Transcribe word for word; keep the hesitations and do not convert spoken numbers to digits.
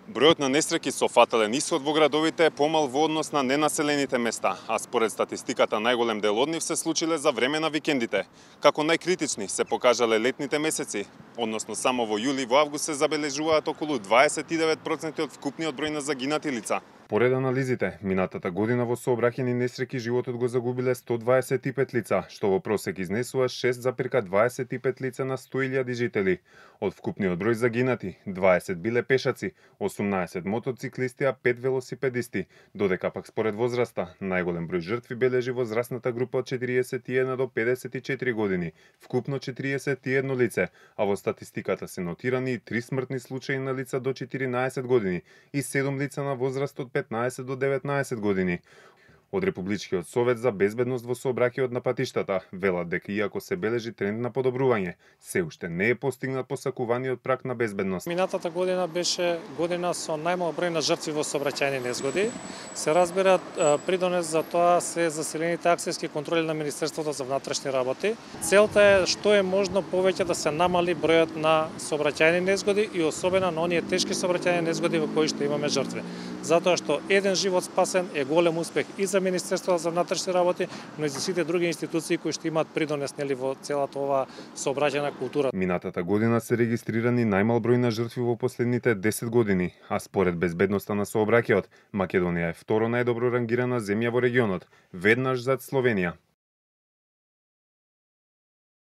Бројот на несреќи со фатален исход во градовите е помал во однос на ненаселените места, а според статистиката најголем дел од нив се случиле за време на викендите. Како најкритични се покажале летните месеци, односно само во јули и во август се забележуваат околу дваесет и девет проценти од вкупниот број на загинати лица. Поред анализите, минатата година во сообраќајни несреќи животот го загубиле сто дваесет и пет лица, што во просек изнесува шест запирка дваесет и пет лица на сто илјади жители. Од вкупниот број загинати, дваесет биле пешаци, осумнаесет мотоциклисти, а пет велосипедисти, додека пак според возраста, најголем број жртви бележи возрастната група од четириесет и една до педесет и четири години, вкупно четириесет и едно лице, а во статистиката се нотирани и три смртни случаи на лица до четиринаесет години и седум лица на возраст од петнаесет до деветнаесет години. Од Републичкиот совет за безбедност во сообраќајот на патиштата велат дека иако се бележи тренд на подобрување, се уште не е постигнат посакуваниот праг на безбедност. Минатата година беше година со најмал број на жртви во сообраќајни незгоди. Се разбира, придонес за тоа се заселените акцијски контроли на Министерството за внатрешни работи. Целта е што е можно повеќе да се намали бројот на сообраќајни незгоди и особено на оние тешки сообраќајни незгоди во кои што имаме жртви. Затоа што еден живот спасен е голем успех и за Министерството за внатрешни работи, но и за сите други институции кои што имаат придонес нели во целата ова сообраќајна култура. Минатата година се регистрирани најмал број на жртви во последните десет години, а според безбедноста на сообраќајот, Македонија е второ најдобро рангирана земја во регионот, веднаш зад Словенија.